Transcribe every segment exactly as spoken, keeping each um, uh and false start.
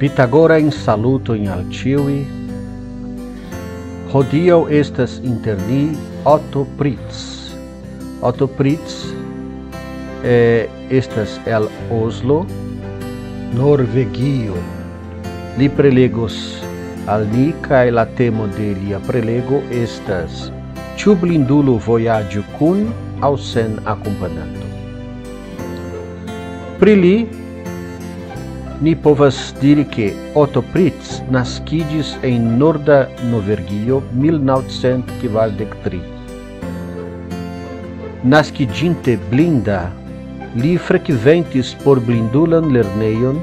Pitagorajn salutojn al ĉiuj. Hodiaŭ estas inter ni Otto Pritz. Otto Pritz eh, estas el Oslo, Norvegio. Li prelegos al ni, kaj la temo de lia prelego estas: ĉu blindulo vojaĝu kun aŭ sen akompananto? Pri li ni povas diri, ke Otto Pritz naskiĝis en norda Norvegio mil naŭcent kvardek tri. Naskiĝinte blinda, li frekventis porblindulan lernejon,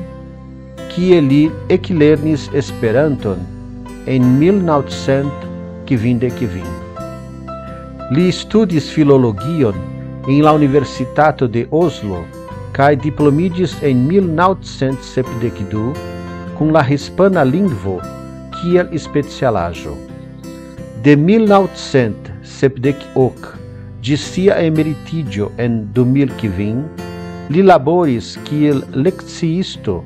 kie li eklernis Esperanton en mil naŭcent kvindek kvin. Li studis filologion en la Universitato de Oslo kaj diplomiĝis en mil naŭcent sepdek du kun la hispana lingvo kiel specialaĵo. De mil naŭcent sepdek ok ĝis sia emeritiĝo en du mil kvin, li laboris kiel lekciisto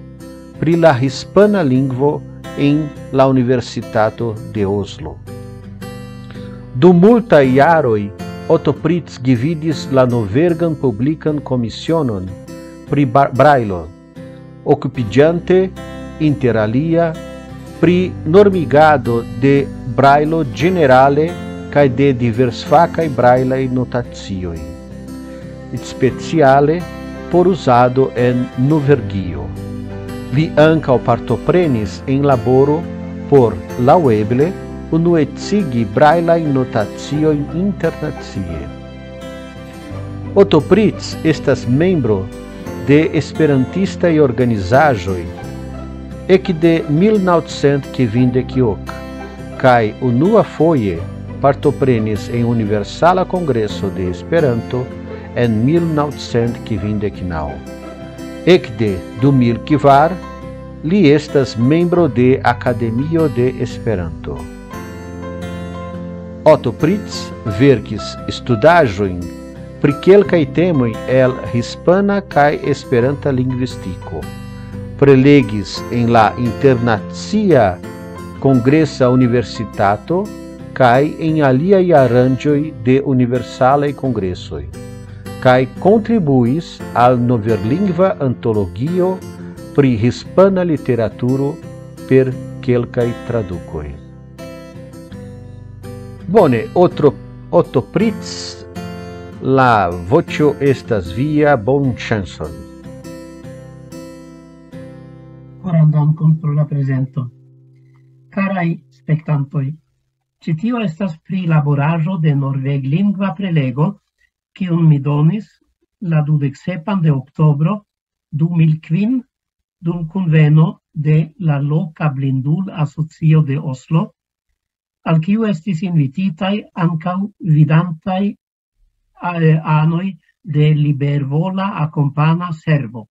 pri la hispana lingvo en la Universitato de Oslo. Dum multaj jaroj Otto Pritz gvidis la Norvegan Publikan Komisionon pri Ba-, Brajlo, okupiĝante, inter alia, pri normigado de Brajlo ĝenerale kaj de diversfakaj brajlaj notacioj, speciale por uzado en Norvegio. Li ankaŭ partoprenis en laboro por, laŭeble, unuecigi brajlajn notaciojn internacie. Otto Pritz estas membro de esperantistaj organizaĵoj ekde mil naŭcent kvindek ok, kaj unuafoje partoprenis en Universala Kongreso de Esperanto en mil naŭcent kvindek naŭ. Ekde du mil kvar li estas membro de Akademio de Esperanto. Otto Pritz verkis studaĵojn pri kelkaj temoj el hispana kaj esperanta lingvistiko. Prelegis en la Internacia Kongresa Universitato kaj en aliaj aranĝoj de universalaj kongresoj, kaj kontribuis al noverlingva antologio pri hispana literaturo per kelkaj tradukoj. Bone, Otto, Otto Pritz, la voĉo estas via, bonŝancon. Koran dankon pro la prezento. Karaj spektantoj, ĉi tio estas prilaboraĵo de norveglingva prelego, kiun mi donis la dudek sepan de oktobro du mil kvin dum kunveno de la loka blindul-asocio de Oslo, al kiu estis invititaj ankaŭ vidantaj, eh, anoj de libervola akompana servo.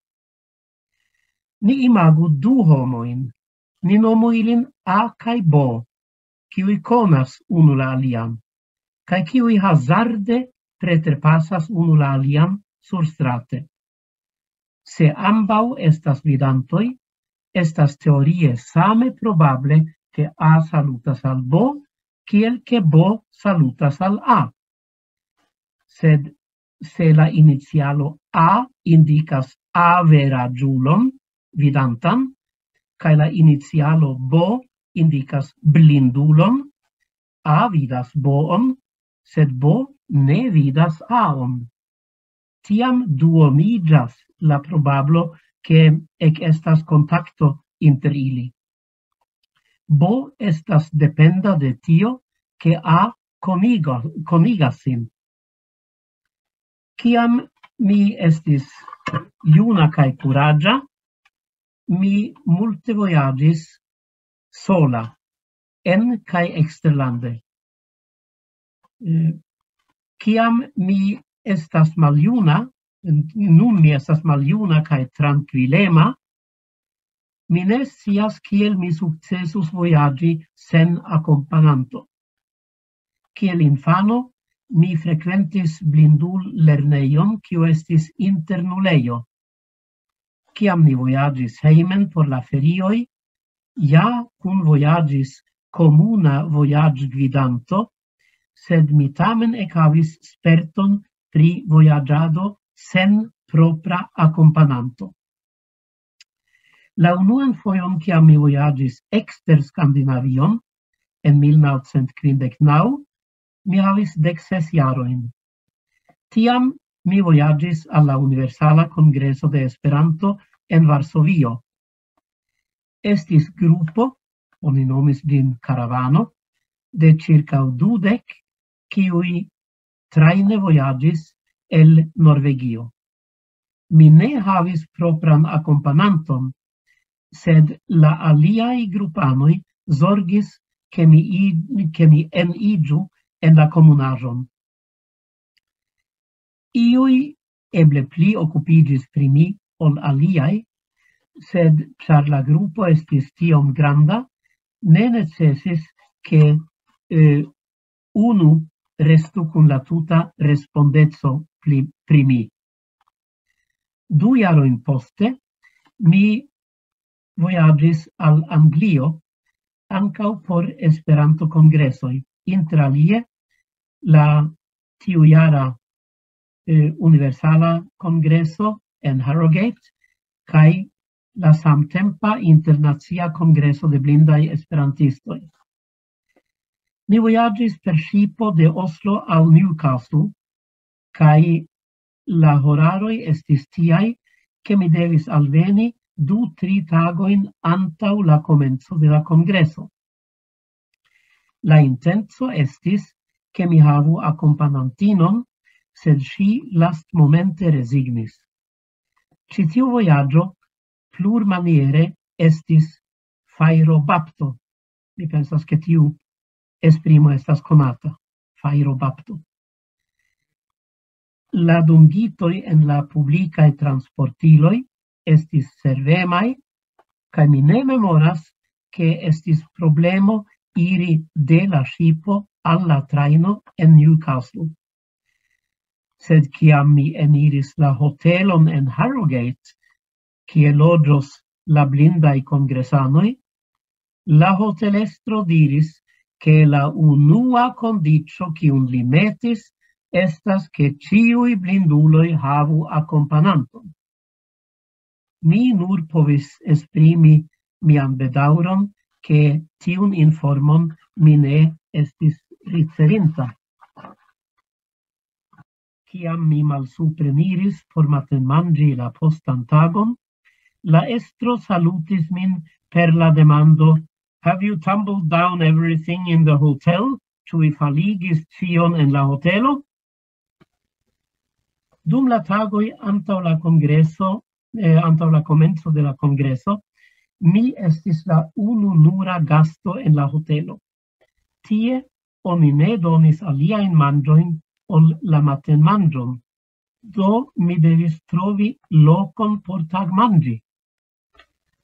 Ni imagu du homojn. Ni nomu ilin A kaj B, kiuj konas unu la alian, kaj kiuj hazarde preterpasas unu la alian surstrate. Se ambaŭ estas vidantoj, estas teorie same probable, ke A salutas al B, kiel ke B salutas al A. Sed se la inicialo A indikas averaĝulon, vidantan, kaj la inicialo B indikas blindulon, A vidas B-on, sed B ne vidas A-on. Tiam duomiĝas la probablo, ke ekestas kontakto inter ili. B estas dependa de tio, ke A konigo-, konigas sin. Kiam mi estis juna kaj kuraĝa, mi multe vojaĝis sola, en kaj eksterlande. Eh, Kiam mi estas maljuna, nun mi estas maljuna kaj trankvilema, mi ne scias, kiel mi sukcesus vojaĝi sen akompananto. Kiel infano, mi frekventis blindul-lernejon, kiu estis internulejo. Kiam ni vojaĝis hejmen por la ferioj, ja kunvojaĝis komuna vojaĝgvidanto, sed mi tamen ekhavis sperton pri vojaĝado sen propra akompananto. La unuan fojon, kiam mi vojaĝis ekster Skandinavion, en mil naŭcent kvindek naŭ, mi havis dek ses jarojn. Tiam mi vojaĝis al la Universala Kongreso de Esperanto en Varsovio. Estis grupo, oni nomis ĝin karavano, de ĉirkaŭ dudek, kiuj trajne vojaĝis el Norvegio. Mi ne havis propran akompananton, sed la aliaj grupanoj zorgis, ke mi i-, ke mi eniĝu en la komunaĵon. Iuj eble pli okupiĝis pri mi ol aliaj, sed ĉar la grupo estis tiom granda, ne necesis, ke, eh, unu restu kun la tuta respondeco pli, pri mi. Du jarojn poste, mi vojaĝis al Anglio ankaŭ por Esperanto-kongresoj, inter alie la tiujara, eh, Universala Kongreso en Harrogate kaj la samtempa Internacia Kongreso de Blindaj Esperantistoj. Mi vojaĝis per ŝipo de Oslo al Newcastle, kaj la horaroj estis tiaj, ke mi devis alveni du, tri tagojn antaŭ la komenco de la kongreso. La intenco estis, ke mi havu akompanantinon, sed ŝi lastmomente rezignis. Ĉi tiu vojaĝo plurmaniere estis fajrobapto. Mi pensas, ke tiu esprimo estas konata, fajrobapto. La dungitoj en la publikaj transportiloj estis servemaj, kaj mi ne memoras, ke estis problemo iri de la ŝipo al la trajno en Newcastle. Sed kiam mi eniris la hotelon en Harrogate, kie loĝos la blindaj kongresanoj, la hotelestro diris, ke la unua kondiĉo, kiun li metis, estas, ke ĉiuj blinduloj havu akompananton. Mi nur povis esprimi mian bedaŭron, ke tiun informon mi ne estis ricevinta. Kiam mi malsupreniris por matenmanĝi la postan tagon, la estro salutis min per la demando: "Have you tumbled down everything in the hotel?" Ĉu vi faligis ĉion en la hotelo? Dum la tagoj antaŭ la kongreso, eh, antaŭ la komenco de la kongreso, mi estis la unu nura gasto en la hotelo. Tie oni ne donis aliajn manĝojn ol la matenmanĝon. Do mi devis trovi lokon por tagmanĝi.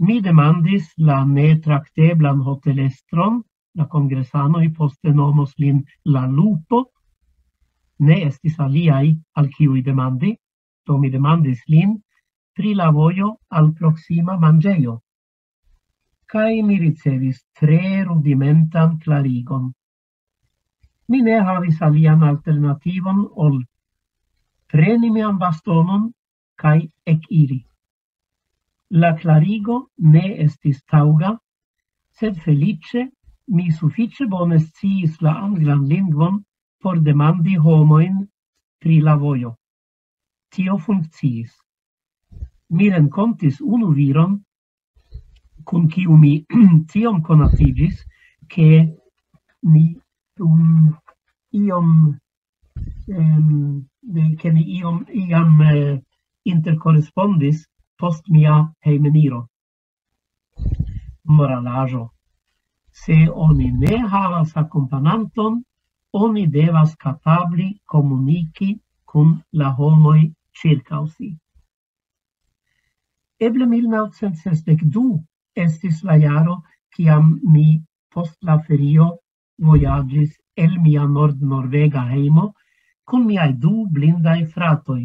Mi demandis la netrakteblan hotelestron, la kongresanoj poste nomos lin la Lupo, ne estis aliaj, al kiuj demandi, do mi demandis lin pri la vojo al proksima manĝejo. Kaj mi ricevis tre rudimentan klarigon. Mi ne havis alian alternativon ol preni mian bastonon kaj ekiri. La klarigo ne estis taŭga, sed feliĉe mi sufiĉe bone sciis la anglan lingvon por demandi homojn pri la vojo. Tio funkciis. Mi renkontis unu viron, kun kiu mi tiom konatiĝis, ke ni um, iom, um, ke ni iom iam uh, interkorespondis post mia hejmeniro. Moralaĵo. Se oni ne havas akompananton, oni devas kapabli komuniki kun la homoj ĉirkaŭ si. Eble mil naŭcent sesdek du estis la jaro, kiam mi post la ferio vojaĝis el mia nordnorvega hejmo kun miaj du blindaj fratoj,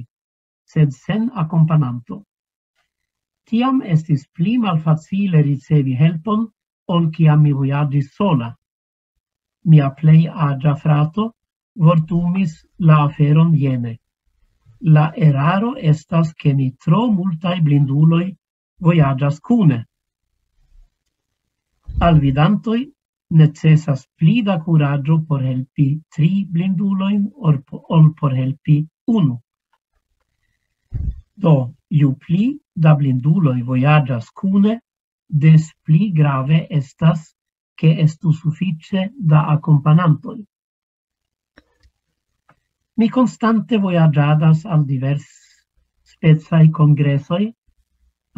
sed sen akompananto. Tiam estis pli malfacile ricevi helpon ol kiam mi vojaĝis sola. Mia plej aĝa frato vortumis la aferon jene: la eraro estas, ke ni tro multaj blinduloj vojaĝas kune. Al vidantoj necesas pli da kuraĝo por helpi tri blindulojn ol por helpi unu. Do, ju pli da blinduloj vojaĝas kune, des pli grave estas, ke estu sufiĉe da akompanantoj. Mi konstante vojaĝadas al divers specaj kongresoj,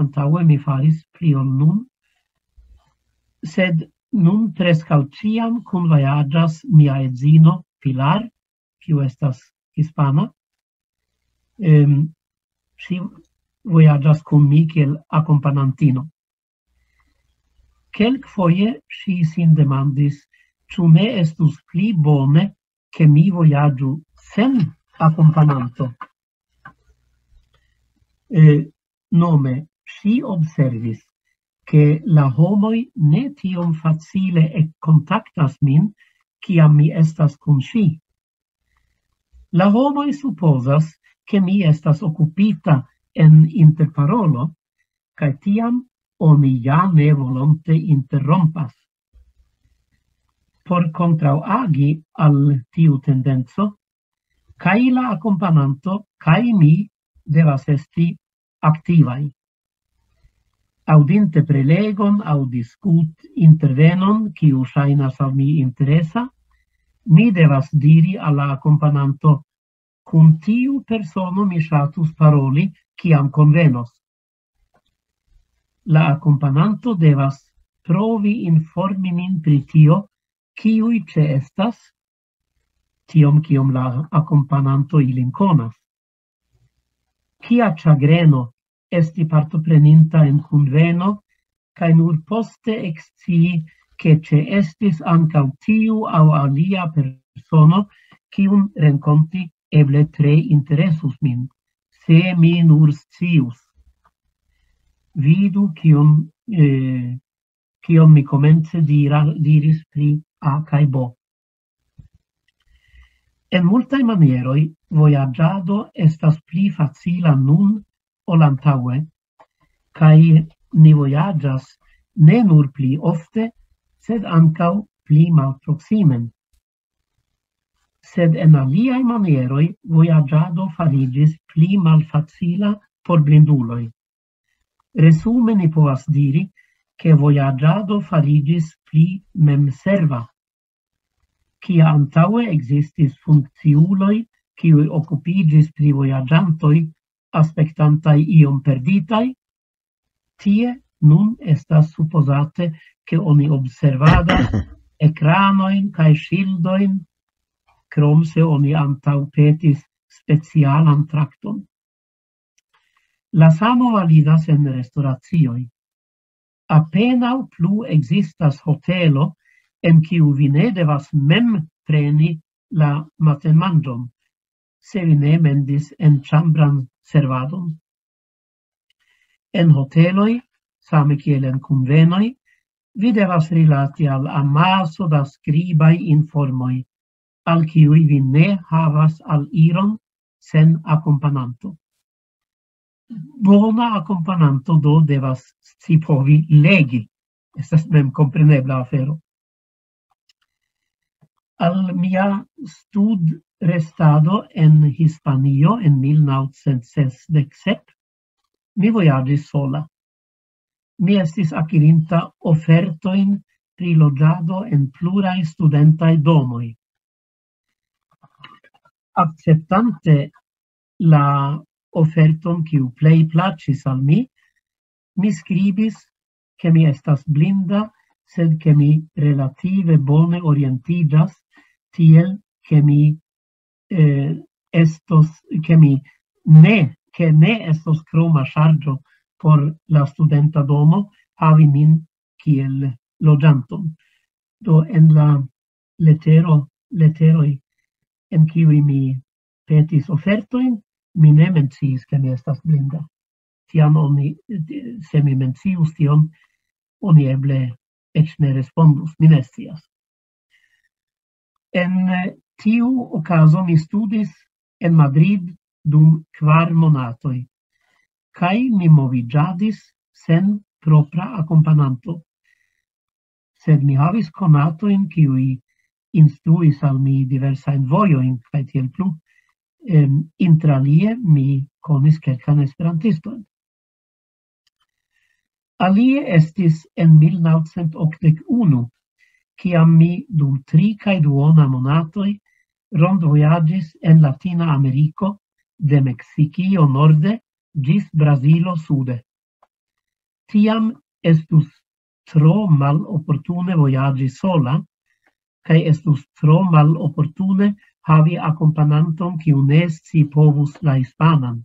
antaŭe mi faris pli ol nun, sed nun preskaŭ ĉiam kunvojaĝas mia edzino Pilar, kiu estas hispana. Em, ŝi vojaĝas kun mi kiel akompanantino. Kelkfoje ŝi sin demandis, ĉu ne estus pli bone, ke mi vojaĝu sen akompananto. Eh, nome, ŝi observis, ke la homoj ne tiom facile ekkontaktas min, kiam mi estas kun ŝi. La homoj supozas, ke mi estas okupita en interparolo, kaj tiam oni ja ne volonte interrompas. Por kontraŭagi al tiu tendenco, kaj la akompananto kaj mi devas esti aktivaj. Aŭdinte prelegon aŭ diskut intervenon, kiu ŝajnas al mi interesa, mi devas diri al la akompananto: kun tiu persono mi ŝatus paroli, kiam konvenos. La akompananto devas provi informi min pri tio, kiuj ĉeestas, tiom kiom la akompananto ilin konas. Kia ĉagreno esti partopreninta en kunveno, kaj nur poste ekscii, ke ĉeestis ankaŭ tiu aŭ alia persono, kiun renkonti eble tre interesus min, se mi nur scius. Vidu, kion, eh, kion mi komence dira, diris pri A kaj B. En multaj manieroj vojaĝado estas pli facila nun ol antaŭe, kaj ni vojaĝas ne nur pli ofte, sed ankaŭ pli malproksimen. Sed en aliaj manieroj vojaĝado fariĝis pli malfacila por blinduloj. Resume ni povas diri, ke vojaĝado fariĝis pli memserva. Kia antaŭe ekzistis funkciuloj, kiuj okupiĝis pri vojaĝantoj, aspektantaj iom perditaj, tie nun estas supozate, ke oni observadas ekranojn kaj ŝildojn, krom se oni antaŭpetis specialan trakton. La samo validas en restoracioj. Apenaŭ plu ekzistas hotelo, en kiu vi ne devas mem preni la matenmanĝon, se vi ne mendis en ĉambran servadon. En hoteloj, same kiel en kunvenoj, vi devas rilati al amaso da skribaj informoj, al kiuj vi ne havas al iron sen akompananto. Bona akompananto do devas scipovi legi. Estas memkomprenebla afero. Al mia studrestado en Hispanio en mil naŭcent sesdek sep, mi vojaĝis sola. Mi estis akirinta ofertojn pri loĝado en pluraj studentaj domoj. Akceptante la oferton, kiu plej plaĉis al mi, mi skribis, ke mi estas blinda, sed ke mi relative bone orientiĝas, tiel ke mi, eh, estos, ke mi ne, ke ne estos kroma ŝarĝo por la studenta domo havi min kiel loĝanton. Do en la letero, leteroj, en kiuj mi petis ofertojn, mi ne menciis, ke mi estas blinda. Tiam oni, se mi mencius tion, oni eble eĉ ne respondus, mi ne scias. En, eh, tiu okazo mi studis en Madrid dum kvar monatoj, kaj mi moviĝadis sen propra akompananto. Sed mi havis konatojn, kiuj instruis al mi diversajn vojojn, kaj tiel plu. Em, inter alie, mi konis kelkajn esperantistojn. Alie estis en mil naŭcent okdek unu, kiam mi dum tri kaj duona monatoj rondvojaĝis en Latina Ameriko, de Meksikio norde ĝis Brazilo sude. Tiam estus tro maloportune vojaĝi sola, kaj estus tro maloportune havi akompananton, kiu ne scipovus la hispanan.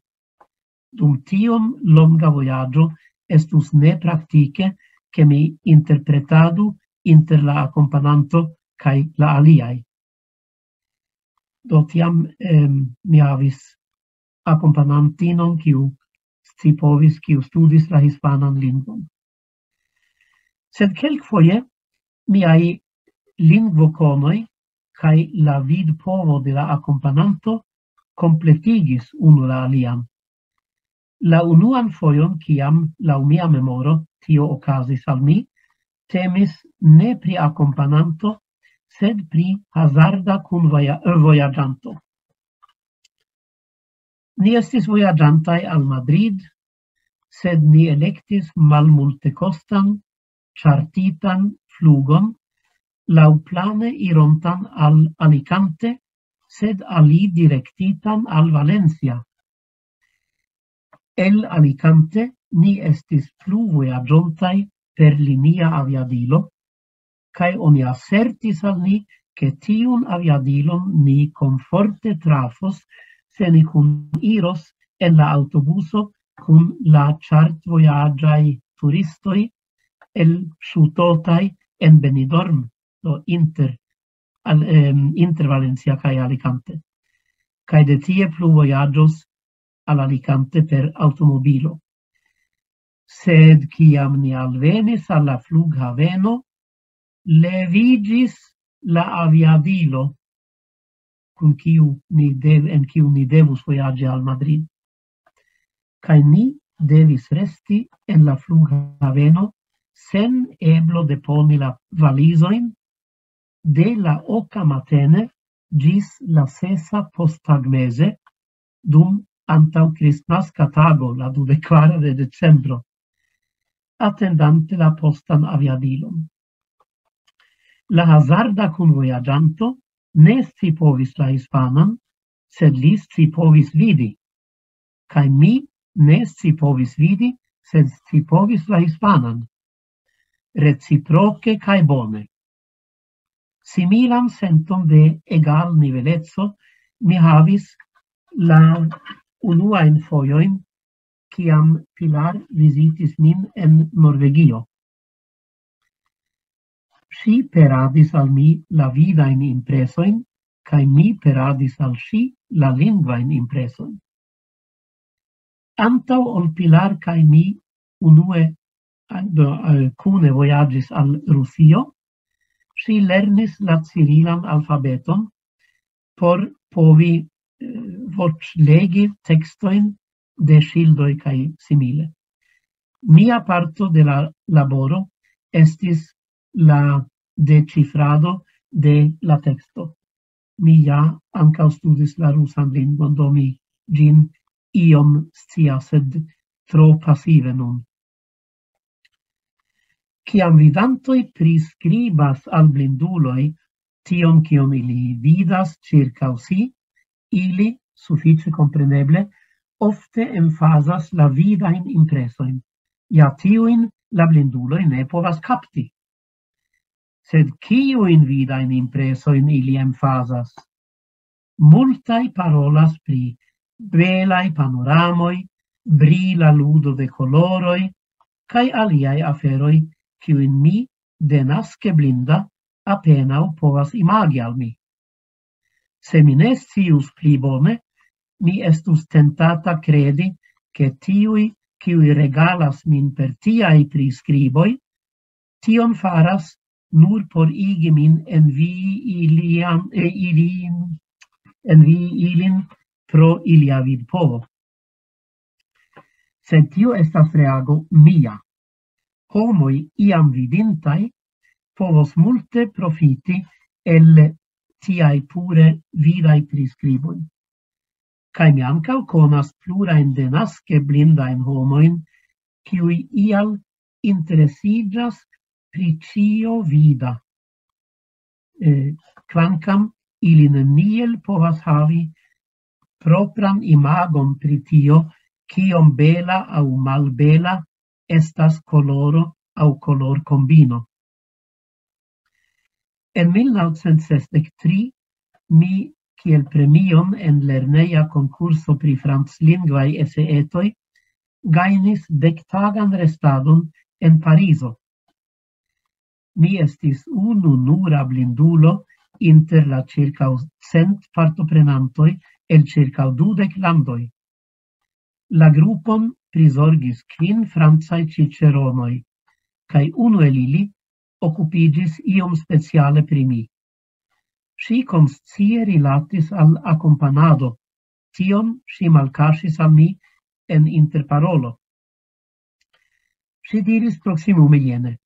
Dum tiom longa vojaĝo estus nepraktike, ke mi interpretadu inter la akompananto kaj la aliaj. Do tiam, em, mi havis akompanantinon, kiu scipovis, kiu studis la hispanan lingvon. Sed kelkfoje miaj lingvokonoj kaj la vidpovo de la akompananto kompletigis unu la alian. La unuan fojon, kiam laŭ mia memoro tio okazis al mi, temis ne pri akompananto, sed pri hazarda kunvoja-, vojaĝanto. Ni estis vojaĝantaj al Madrid, sed ni elektis malmultekostan, ĉartitan flugon, laŭplane irontan al Alicante, sed alidirektitan al Valencia. El Alicante ni estis plu vojaĝontaj per linia aviadilo, kaj oni asertis al ni, ke tiun aviadilon ni komforte trafos, se ni kuniros en la aŭtobuso kun la ĉartvojaĝaj turistoj elŝutotaj en Benidorm, do inter, al, em, inter Valencia kaj Alicante. Kaj de tie plu vojaĝos al Alicante per aŭtomobilo. Sed kiam ni alvenis al la flughaveno, leviĝis la aviadilo, kun kiu ni dev-, en kiu ni devus vojaĝi al Madrid. Kaj ni devis resti en la flughaveno sen eblo deponi la valizojn de la oka matene ĝis la sesa posttagmeze, dum antaŭkristnaska tago, la dudek kvara de decembro, atendante la postan aviadilon. La hazarda kunvojaĝanto ne scipovis la hispanan, sed li scipovis vidi. Kaj mi ne scipovis vidi, sed scipovis la hispanan. Reciproke kaj bone. Similan senton de egalniveleco mi havis la unuajn fojojn, kiam Pilar vizitis min en Norvegio. Ŝi peradis al mi la vidajn impresojn, kaj mi peradis al ŝi la lingvajn impresojn. Antaŭ ol Pilar kaj mi unue, eh, do, eh, kune vojaĝis al Rusio, ŝi lernis la cirilan alfabeton por povi, eh, voĉlegi tekstojn de ŝildoj kaj simile. Mia parto de la laboro estis la deĉifrado de la teksto. Mi ja ankaŭ studis la rusan lingvon, do mi ĝin iom scias, sed tro pasive nun. Kiam vidantoj priskribas al blinduloj tion, kion ili vidas ĉirkaŭ si, ili, sufiĉe kompreneble, ofte emfazas la vidajn impresojn. Ja tiujn la blinduloj ne povas kapti. Sed kiujn vidajn impresojn ili emfazas? Multaj parolas pri belaj panoramoj, brila ludo de koloroj, kaj aliaj aferoj, kiujn mi, denaske blinda, apenaŭ povas imagi al mi. Se mi ne scius pli bone, mi estus tentata kredi, ke tiuj, kiuj regalas min per tiaj priskriboj, tion faras nur por igi min envii ilian, eh, ilin, envii ilin pro ilia vidpovo. Sed tio estas reago mia. Homoj iam vidintaj povos multe profiti el tiaj pure vidaj priskriboj. Kaj mi ankaŭ konas plurajn denaske blindajn homojn, kiuj ial interesiĝas pri ĉio vida. Eh, kvankam ili neniel povas havi propran imagon pri tio, kiom bela aŭ malbela estas koloro aŭ kolorkombino. En mil naŭcent sesdek tri mi kiel premion en lerneja konkurso pri franclingvaj eseetoj gajnis dektagan restadon en Parizo. Mi estis unu nura blindulo inter la ĉirkaŭ cent partoprenantoj el ĉirkaŭ dudek landoj. La grupon prizorgis kvin francaj ĉiĉeronoj, kaj unu el ili okupiĝis iom speciale pri mi. Ŝi konscie rilatis al akompanado, tion ŝi malkaŝis al mi en interparolo. Ŝi diris proksimume jene: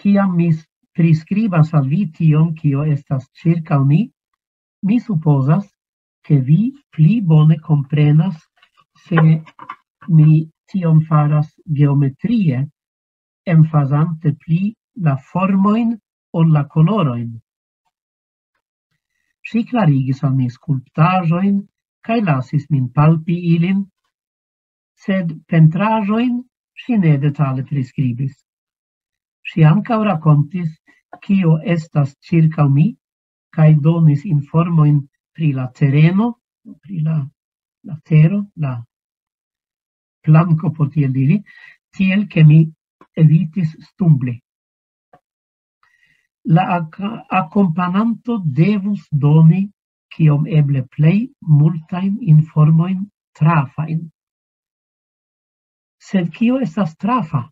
"Kiam mi s-, priskribas al vi tion, kio estas ĉirkaŭ ni, mi supozas, ke vi pli bone komprenas, se mi tion faras geometrie, emfazante pli la formojn ol la kolorojn." Ŝi klarigis al mi skulptaĵojn kaj lasis min palpi ilin, sed pentraĵojn ŝi ne detale priskribis. Ŝi ankaŭ rakontis, kio estas ĉirkaŭ mi, kaj donis informojn pri la tereno, pri la, la tero, la planko, por tiel diri, tiel ke mi evitis stumbli. La ak-, akompananto devus doni kiom eble plej multajn informojn trafajn. Sed kio estas trafa?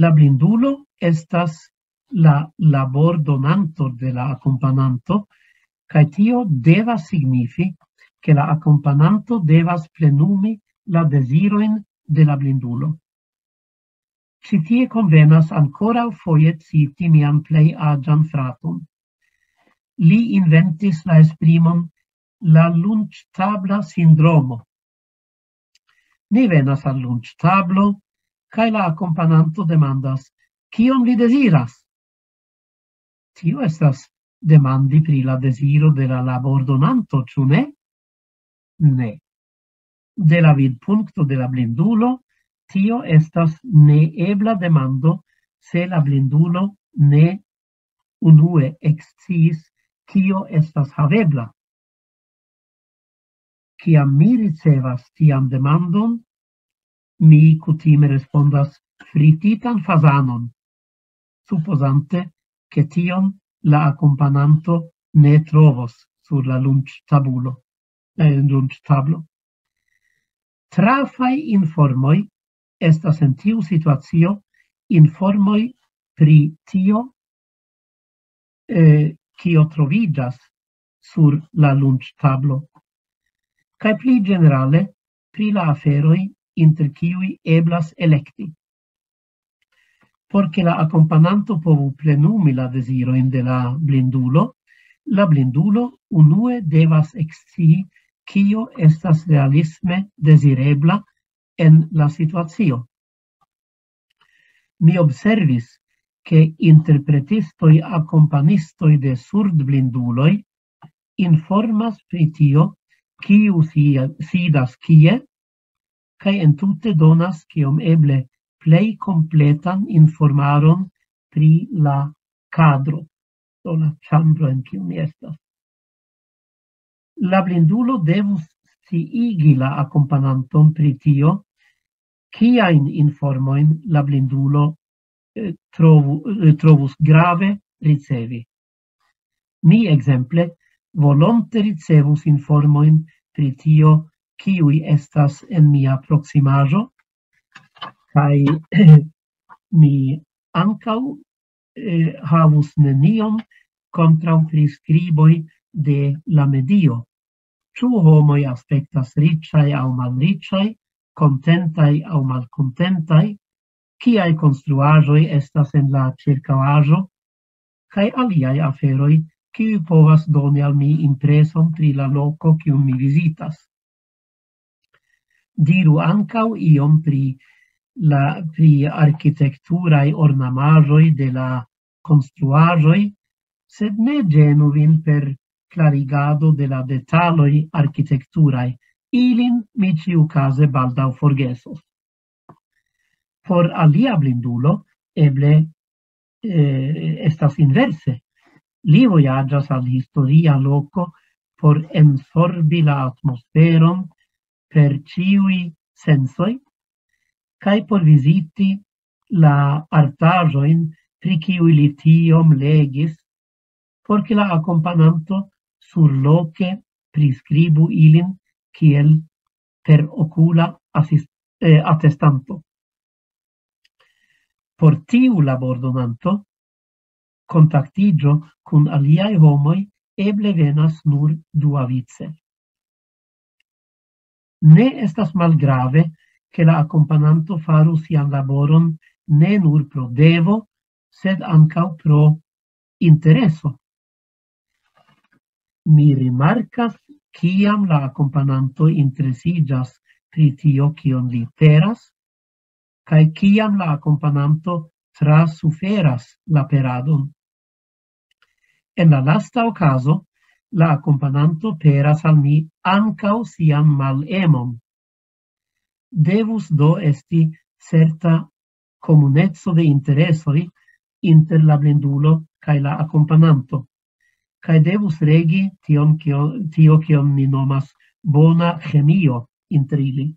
La blindulo estas la labordonanto de la akompananto, kaj tio devas signifi, ke la akompananto devas plenumi la dezirojn de la blindulo. Ĉi tie konvenas ankoraŭ foje citi mian plej aĝan fraton. Li inventis la esprimon la lunĉtabla sindromo. Ni venas al lunĉtablo, kaj la akompananto demandas: "Kion vi deziras?" Tio estas demandi pri la deziro de la labordonanto, ĉu ne? Ne. De la vidpunkto de la blindulo, tio estas neebla demando, se la blindulo ne unue eksciis, kio estas havebla. Kiam mi ricevas tian demandon, mi kutime respondas: "Frititan fazanon", supozante, ke tion la akompananto ne trovos sur la lunĉtabulo, eh, lunĉtablo. Trafaj informoj estas en tiu situacio informoj pri tio, eh, kio troviĝas sur la lunĉtablo, kaj pli ĝenerale pri la aferoj, inter kiuj eblas elekti. Por ke la akompananto povu plenumi la dezirojn de la blindulo, la blindulo unue devas ekscii, kio estas realisme dezirebla en la situacio. Mi observis, ke interpretistoj, akompanistoj de surdblinduloj informas pri tio, kiu si-, sidas kie, kaj entute donas kiom eble plej kompletan informaron pri la kadro, do la ĉambro, en kiu mi estas. La blindulo devus sciigi la akompananton pri tio, kiajn informojn la blindulo, eh, trovu-, eh, trovus grave ricevi. Mi, ekzemple, volonte ricevus informojn pri tio, kiuj estas en mia proksimaĵo, kaj mi ankaŭ, eh, havus nenion kontraŭ priskriboj de la medio. Ĉu homoj aspektas riĉaj aŭ malriĉaj, kontentaj aŭ malkontentaj, kiaj konstruaĵoj estas en la ĉirkaŭaĵo, kaj aliaj aferoj, kiuj povas doni al mi impreson pri la loko, kiun mi vizitas. Diru ankaŭ iom pri la, pri arkitekturaj ornamaĵoj de la konstruaĵoj, sed ne ĝenu vin per klarigado de la detaloj arkitekturaj. Ilin mi ĉiukaze baldaŭ forgesos. Por alia blindulo, eble, eh, estas inverse. Li vojaĝas al historia loko por ensorbi la atmosferon per ĉiuj sensoj, kaj por viziti la artaĵojn, pri kiuj li tiom legis, por ke la akompananto surloke priskribu ilin kiel per okula asis-, eh, atestanto. Por tiu labordonanto, kontaktiĝo kun aliaj homoj eble venas nur duavice. Ne estas malgrave, ke la akompananto faru sian laboron ne nur pro devo, sed ankaŭ pro intereso. Mi rimarkas, kiam la akompananto interesiĝas pri tio, kion li peras, kaj kiam la akompananto trasuferas la peradon. En la lasta okazo, la akompananto peras al mi ankaŭ sian malemon. Devus do esti certa komuneco de interesoj inter la blindulo kaj la akompananto, kaj devus regi tion, kio, tio, kion ni nomas bona ĥemio inter ili.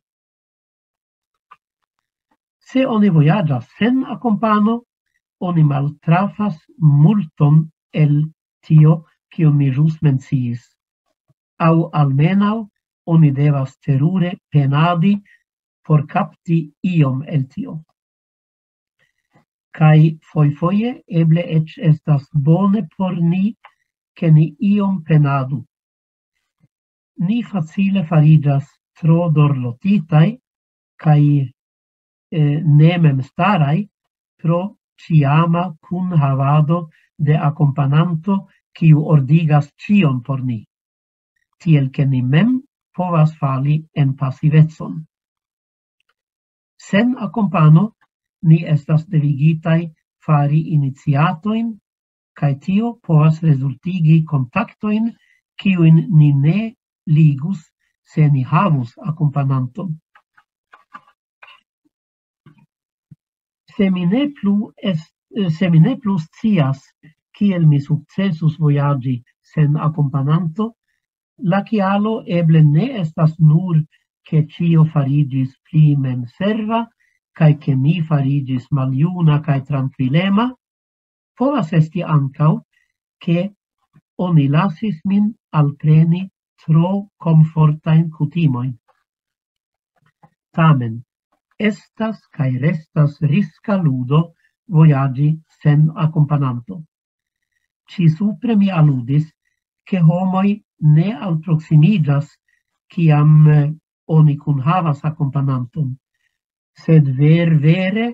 Se oni vojaĝas sen akompano, oni maltrafas multon el tio, kion mi ĵus menciis. Aŭ almenaŭ oni devas terure penadi por kapti iom el tio. Kaj fojfoje eble eĉ estas bone por ni, ke ni iom penadu. Ni facile fariĝas tro dorlotitaj kaj, eh, ne memstaraj pro ĉiama kunhavado de akompananto, kiu ordigas ĉion por ni, tiel ke ni mem povas fali en pasivecon. Sen akompano ni estas devigitaj fari iniciatojn, kaj tio povas rezultigi kontaktojn, kiujn ni ne ligus, se ni havus akompananton. Se mi ne plu est-, se mi ne plu scias, kiel mi sukcesus vojaĝi sen akompananto, la kialo eble ne estas nur, ke ĉio fariĝis pli memserva, kaj ke mi fariĝis maljuna kaj trankvilema, povas esti ankaŭ, ke oni lasis min alpreni tro komfortajn kutimojn. Tamen, estas kaj restas riska ludo vojaĝi sen akompananto. Ĉi supre mi aludis, ke homoj ne alproksimiĝas, kiam eh, oni kunhavas akompananton, sed ver vere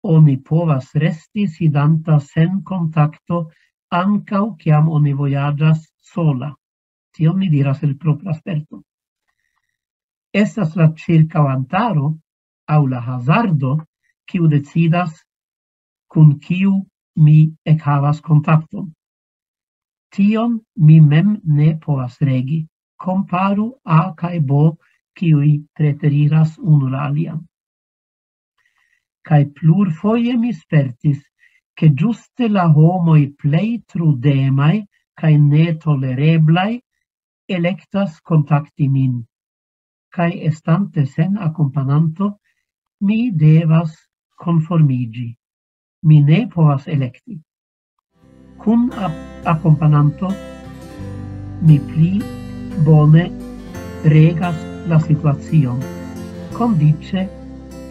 oni povas resti sidanta sen kontakto ankaŭ kiam oni vojaĝas sola. Tion mi diras el propra sperto. Estas la ĉirkaŭantaro aŭ la hazardo, kiu decidas, kun kiu mi ekhavas kontakton. Tion mi mem ne povas regi. Komparu A kaj B, kiuj preteriras unu la alian. Kaj plurfoje mi spertis, ke ĝuste la homoj plej trudemaj kaj netolereblaj elektas kontakti min. Kaj estante sen akompananto, mi devas konformiĝi. Mi ne povas elekti. Kun ap- akompananto, mi pli bone regas la situacion, kondiĉe,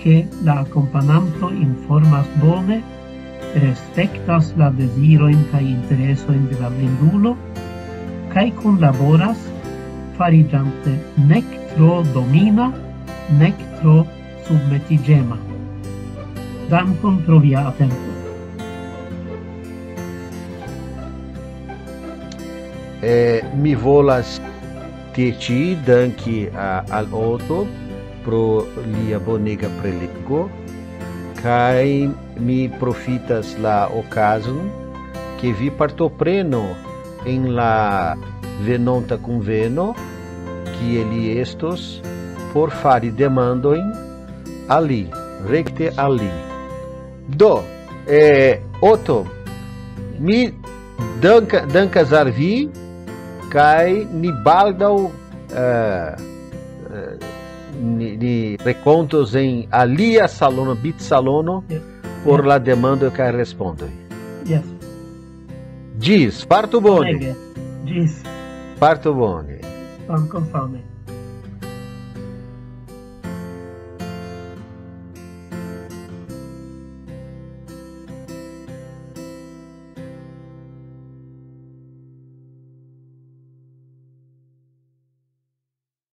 ke la akompananto informas bone, respektas la dezirojn kaj interesojn de la blindulo, kaj kunlaboras, fariĝante nek tro domina, nek tro submetiĝema. Dankon pro via atento. Eh, mi volas tie ĉi danki a, al Otto pro lia bonega prelego, kaj mi profitas la okazon, ke vi partopreno en la venonta kunveno, kie li estos, por fari demandojn al li, rekte al li. Do, eh, Otto, mi danka, dankas al vi, kaj ni baldaŭ eh, eh, ni, ni renkontos en alia salono, bit salono, Yes. Por la demando kaj respondoj. Yes. Ĝis, fartu bone. Bonege. Ĝis. Fartu bone. Dankon same.